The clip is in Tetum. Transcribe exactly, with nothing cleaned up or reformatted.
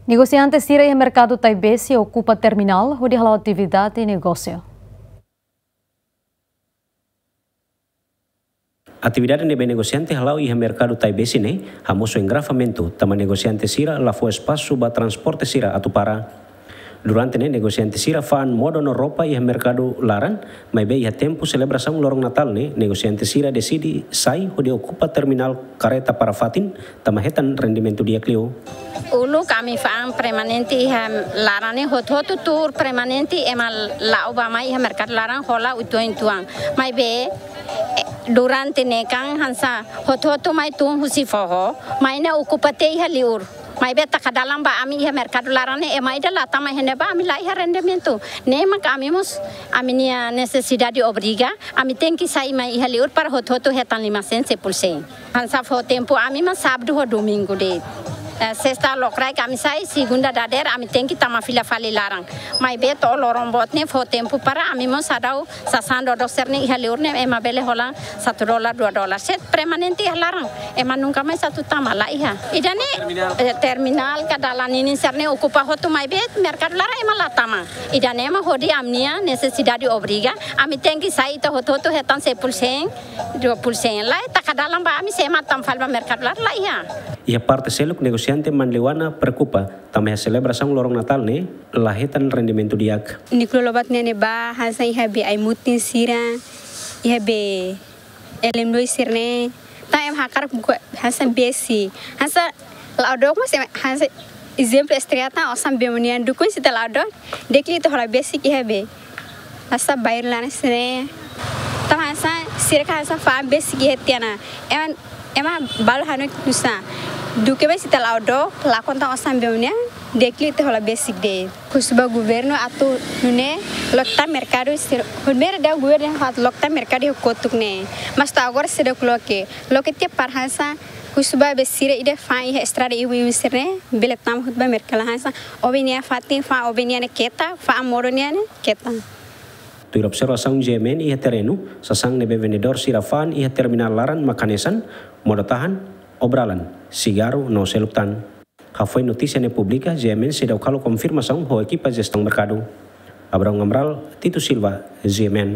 Negosiante sira iha merkadu Taibesi okupa terminál hodi hala'o atividade negósiu. Atividade ne'ebé negosiante hala'o iha merkadu Taibesi ne'e hamosu engarrafamentu, tanba negosiante sira la fó espasu ba transporte sira atu para. Durante ne'e negosiante sira fa'an modo no roupa iha merkadu laran, maibé iha tempu selebrasaun loron Natál ne'e negosiante sira deside sai hodi okupa terminál karreta para fatin, tanba hetan rendimentu di'ak liu. Uluk ami fa'an permanente iha laran ne'e, hotu-hotu tuur permanente ema la'o bá mai iha merkadu laran hola uitoan-uitoan. Maibé, eh, durante ne'e kan hanesan hotu-hotu mai tun husi foho, mai ne'e okupa tiha iha liur. Maibé taka dalan ba ami iha merkadu laran ne'e, ema ida la tama iha ne'ebá, ami la iha rendimentu. Ne'e mak ami mós, ami-nia nesesidade obriga, ami tenke sai mai iha liur para hotu-hotu hetan lima sen, sepuluh sen. Hanesan fó tempu ami mak sábadu ho domingu de'it. Eh, sesta lokraik ami sai, segunda dadeer ami tenke tama fila fali laran. Maibé to'o loron boot ne'e fó tempu para ami mós sadau sasán dodok sira-ne'e iha liur ne'e ema bele hola satu dolar, dua dolar. Se permanente iha laran, ema nunka mais atu tama, la iha. Ida-ne'e, eh, terminál ka dalan ninin sira-ne'e okupa hotu, maibé merkadu laran ema la tama. Ida-ne'e mak hodi ami-nia nesesidade obriga, ami tenke sai ita hotu-hotu hetan sepuluh sen, dua puluh sen. Lae, taka dalan ba ami, se ema tama fali ba merkadu laran, la iha. Iha parte seluk negosiante Manleuana preokupa, tanba iha selebrasaun loron Natál ne'e la hetan rendimentu di'ak. Nia kula lobat ne'e ne'ebá hanesan iha be ai-mutin sira, iha be elem-dois sira-ne'e. Tanba ema hakarak buka hanesan besik. Hanesan la'o dook mós ema hanesan ezemplu estrada, osan be munian dukun se ita la'o dook, di'ak liu ita hola besik iha be. Hanesan bairru laran sira-ne'e. Tanba hanesan sira ka hanesan fa'an besik iha tiha ona. Ema, ema balu hanoin nusá. Duké be se ita la'o dook, lakon tan osan be munian, di'ak liu ita hola besik de'it. Husu ba governu atu nune'e loke tan merkadu sira, primeiro dehan governu atu loke tan merkadu iha kotuk ne'e. Mas to'o agora seidauk loke. Loke tiha para hanesan, husu ba be sira ida fa'an iha estrada ibu-ibu sira-ne'e, bele tama hotu ba merkadu laran hanesan, obe nia fatin fa'an, obe nia ne'e keta, fa'an modo nia ne'e keta. Tuir observasaun G M N iha terrenu, sasán ne'ebé vendedór sira fa'an iha terminál laran mak hanesan, modo-tahan, obralan, sigarru no seluk tan. Hafoin notísia ne'e publika, G M N seidauk halo konfirmasaun ho ekipa jestaun merkadu. Abraão Amaral, Tito Silva, G M N.